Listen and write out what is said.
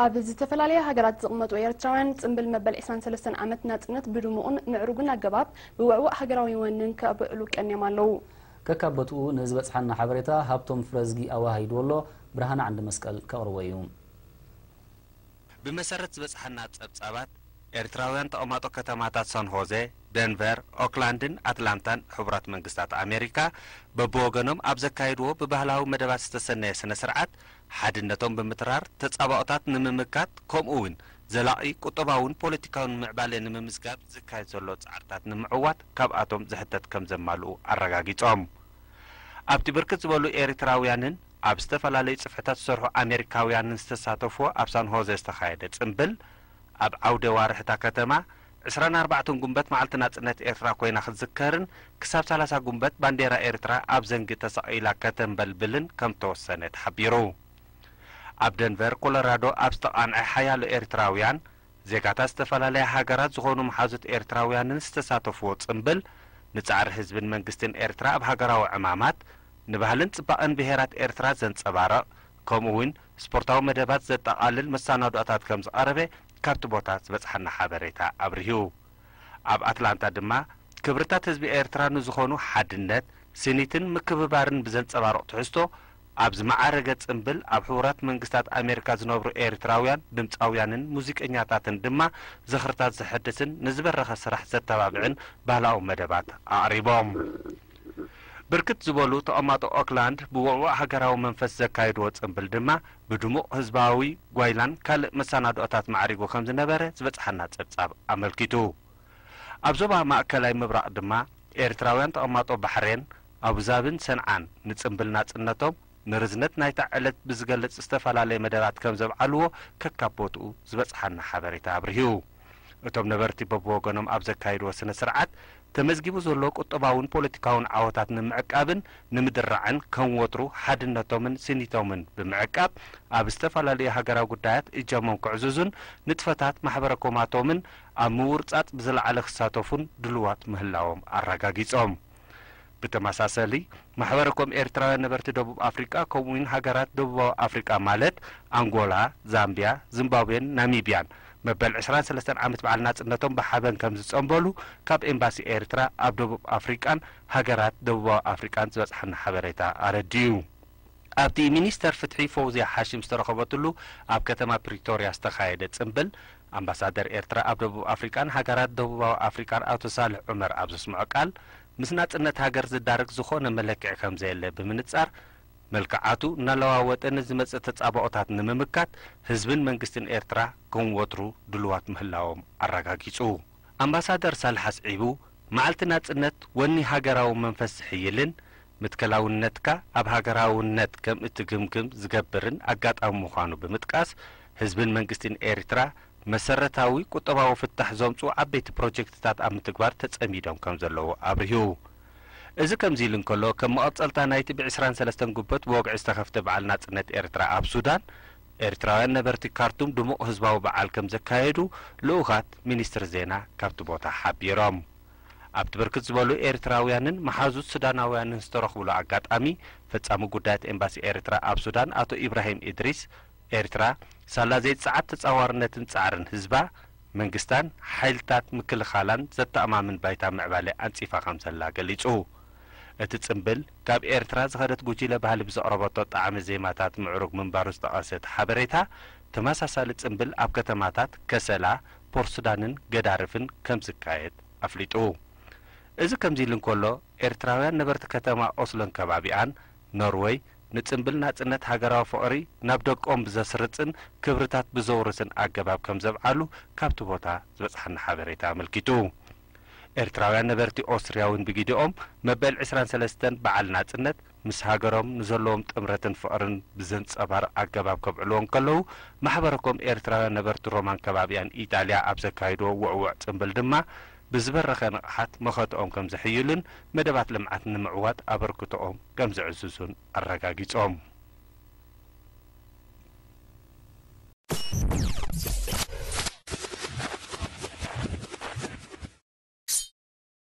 ኣብ ዝተፈላለያ ሃገራት ዝቕመጡ ኤርትራውያን፣ ጽምብል መበል ዕስራን ሰለስተን ዓመት ናጽነት ብድሙቕን ምዕሩግን ኣገባብ፣ ብውዕዉዕ ሃገራዊ ወንን ከብዕሉ ቀንዮም ኣለዉ። ከካብ ቦትኡ ንዝበጽሓና ሓበሬታ ሃብቶም ፍረዝጊ ኣወሃሂድዎ ኣሎ፣ ብርሃነ ዓንዲ መስቀል ከቕርቦ እዩ። ብመሰረት ዝበጽሓና ጸብጻባት፣ ኤርትራውያን ተቐማጦ ከተማታት ሳን ሆዜ፣ ደንቨር፣ ኦክላንድን ኣትላንታን ሕቡራት መንግስታት ኣሜሪካ በብወገኖም ኣብ ዘካየድዎ ብባህላዊ መደባት ዝተሰነየ ስነ ስርዓት፣ ሓድነቶም ብምትራር ተጻባኦታት ንምምካት፣ ከምኡ እውን ዘላቒ ቁጠባውን ፖለቲካውን ምዕባለ ንምምዝጋብ ዝካየድ ዘሎ ጻዕርታት ንምዕዋት ካብኣቶም ዝሕተት ከም ዘማልኡ ኣረጋጊጾም። ኣብቲ ብርክት ዝበሉ ኤርትራውያንን ኣብ ዝተፈላለዩ ጽፍሕታት ዝሰርሑ ኣሜሪካውያንን ዝተሳተፍዎ ኣብ ሳን ሆዜ ዝተኻየደ ጽምብል፣ ኣብ ዓውደ ዋርሕታ ከተማ ዕስራን ኣርባዕተን ጉንበት መዓልቲ ናጽነት ኤርትራ ኮይና ክትዝከርን ክሳብ ሰላሳ ጉንበት ባንዴራ ኤርትራ ኣብ ዘንጊ ተሰቒላ ከተንበልብልን ከም ተወሰነ ተሓቢሩ። ኣብ ደንቨር ኮሎራዶ ኣብ ዝተቓንዐ ሓያሎ ኤርትራውያን ዜጋታት ዝተፈላለያ ሃገራት ዝኾኑ መሓዙት ኤርትራውያንን ዝተሳተፍዎ ጽምብል፣ ንጻዕሪ ህዝብን መንግስትን ኤርትራ ኣብ ሃገራዊ ዕማማት፣ ንባህልን ጽባቐን ብሄራት ኤርትራ ዘንጸባርቕ፣ ከምኡ እውን ስፖርታዊ መደባት ዘጠቓልል መሰናድኦታት ከም ዝቐረበ ካብቲ ቦታ ዝበጽሓና ሓበሬታ ኣብሪሁ። ኣብ ኣትላንታ ድማ፣ ክብርታት ህዝቢ ኤርትራ ንዝኾኑ ሓድነት፣ ስኒትን ምክብባርን ብዘንጸባርቕ ትሕዝቶ፣ ኣብ ዝመዓረገ ጽምብል፣ ኣብ ሕቡራት መንግስታት ኣሜሪካ ዝነብሩ ኤርትራውያን ድምጻውያንን ሙዚቀኛታትን ድማ ዝኽርታት ዘሐድስን ንዝበረኸ ስራሕ ዘተባብዕን ባህላዊ መደባት ኣቕሪቦም። ብርክት ዝበሉ ተቐማጦ ኦክላንድ ብውዕዉዕ ሃገራዊ መንፈስ ዘካየድዎ ጽምብል ድማ ብድሙቕ ህዝባዊ ጓይላን ካልእ መሰናድኦታት ማዕሪጉ ከም ዝነበረ ዝበጽሓና ጸብጻብ ኣመልኪቱ። ኣብ ዞባ ማእከላይ ምብራቕ ድማ ኤርትራውያን ተቐማጦ ባሕሬን፣ ኣቡዛብን ሰንዓን ንጽምብል ናጽነቶም ንርዝነት ናይታ ዕለት ብዝገልጽ ዝተፈላለየ መደባት ከም ዘብዓልዎ ከካብ ቦትኡ ዝበጽሓና ሓበሬታ ኣብሪሁ። እቶም ነበርቲ በብወገኖም ኣብ ዘካየድዎ ስነ ስርዓት፣ ተመዝጊቡ ዘሎ ቁጠባውን ፖለቲካውን ዓወታት ንምዕቃብን ንምድራዕን ከም ወትሩ ሓድነቶምን ስኒቶምን ብምዕቃብ ኣብ ዝተፈላለዩ ሃገራዊ ጉዳያት እጃሞም ከዕዝዙን ንጥፈታት ማሕበረ ኮማቶምን ኣብ ምውርጻጽ ብዝለዓለ ክሳተፉን ድልዋት ምህላዎም ኣረጋጊጾም። ብተመሳሰሊ፣ ማሕበረ ኮም ኤርትራውያን ነበርቲ ደቡብ ኣፍሪቃ ከምኡውን ሃገራት ደቡባዊ ኣፍሪቃ ማለት ኣንጎላ፣ ዛምቢያ፣ ዚምባብዌን ናሚብያን መበል ዕስራን ሰለስተን ዓመት በዓል ናጽነቶም ብሓበን ከም ዝጸንበሉ ካብ ኤምባሲ ኤርትራ ኣብ ደቡብ ኣፍሪቃን ሃገራት ደቡባዊ ኣፍሪቃን ዝበጽሓና ሓበሬታ ኣረዲኡ። ኣብቲ ሚኒስተር ፍትሒ ፈውዝያ ሓሽም ዝተረኸበትሉ ኣብ ከተማ ፕሪቶርያ ዝተኻየደ ጽምብል ኣምባሳደር ኤርትራ ኣብ ደቡብ ኣፍሪቃን ሃገራት ደቡባዊ ኣፍሪቃን ኣቶ ሳልሕ ዑመር ኣብ ዘስምዖ ቃል፣ ምስ ናጽነት ሃገር ዝዳረግ ዝኾነ መለክዒ ከም ዘየለ ብምንጻር፣ መልክዓቱ እናለዋወጠ ንዝመጽእ ተጻብኦታት ንምምካት ህዝብን መንግስትን ኤርትራ ከም ወትሩ ድሉዋት ምህላዎም ኣረጋጊጹ። ኣምባሳደር ሳልሕ ኣስዒቡ፣ መዓልቲ ናጽነት ወኒ ሃገራዊ መንፈስ ዝሕይልን ምትከላውነትካ ኣብ ሃገራውነት ከም እትግምግም ዝገብርን ኣጋጣሚ ምዃኑ ብምጥቃስ፣ ህዝብን መንግስትን ኤርትራ መሰረታዊ ቁጠባዊ ፍታሕ ዘምጽኡ ዓበይቲ ፕሮጀክትታት ኣብ ምትግባር ተጸሚዶም ከም ዘለዉ ኣብሪሁ። እዚ ከምዚ ኢሉ እንከሎ፣ ከም መቐጸልታ ናይቲ ብ ዕስራን ሰለስተን ጉበት ብወግዒ ዝተኸፍተ በዓል ናጽነት ኤርትራ ኣብ ሱዳን፣ ኤርትራውያን ነበርቲ ካርቱም ድሙቕ ህዝባዊ በዓል ከም ዘካየዱ ልኡኻት ሚኒስትሪ ዜና ካብቲ ቦታ ሓቢሮም። ኣብቲ ብርክት ዝበሉ ኤርትራውያንን መሓዙት ሱዳናውያንን ዝተረኽብሉ ኣጋጣሚ፣ ፈጻሚ ጉዳያት ኤምባሲ ኤርትራ ኣብ ሱዳን ኣቶ ኢብራሂም ኢድሪስ፣ ኤርትራ ሳላ ዘይጸዓት ተጻዋርነትን ጻዕርን ህዝባ፣ መንግስታን ሓይልታት ምክልኻላን ዘተኣማምን ባይታ ምዕባለ ኣንጺፋ ከም ዘላ ገሊጹ። እቲ ጽምብል፣ ካብ ኤርትራ ዝኸደት ጉጂለ ባህሊ ብዘቕረበቶ ጣዕመ ዜማታት ምዕሩግ ምንባሩ ዝጠቐሰ እቲ ሓበሬታ፣ ተመሳሳሊ ጽምብል ኣብ ከተማታት ከሰላ፣ ፖርት ሱዳንን ገዳርፍን ከም ዝካየድ ኣፍሊጡ። እዚ ከምዚ ኢሉ እንከሎ፣ ኤርትራውያን ነበርቲ ከተማ ኦስሎን ከባቢኣን፣ ኖርወይ፣ ንጽምብል ናጽነት ሃገራዊ ፍቕሪ ናብ ደቆም ብዘስርጽን ክብርታት ብዘውርስን ኣገባብ ከም ዘብዓሉ ካብቲ ቦታ ዝበጽሓና ሓበሬታ ኣመልኪቱ። ኤርትራውያን ነበርቲ ኦስትርያ እውን ብጊዲኦም መበል ዕስራን ሰለስተን በዓል ናጽነት ምስ ሃገሮም ንዘለዎም ጥምረትን ፍቕርን ብዘንጸባርቕ ኣገባብ ከብዕልዎ እንከለዉ፣ ማሕበረ ኮም ኤርትራውያን ነበርቲ ሮማን ከባቢኣን ኢጣልያ ኣብ ዘካይድዎ ውዕዉዕ ጽምብል ድማ ብዝበረኸ ንቕሓት መኸትኦም ከም ዘሕይሉን መደባት ልምዓት ንምዕዋት ኣበርክቶኦም ከም ዘዕዝዙን ኣረጋጊጾም።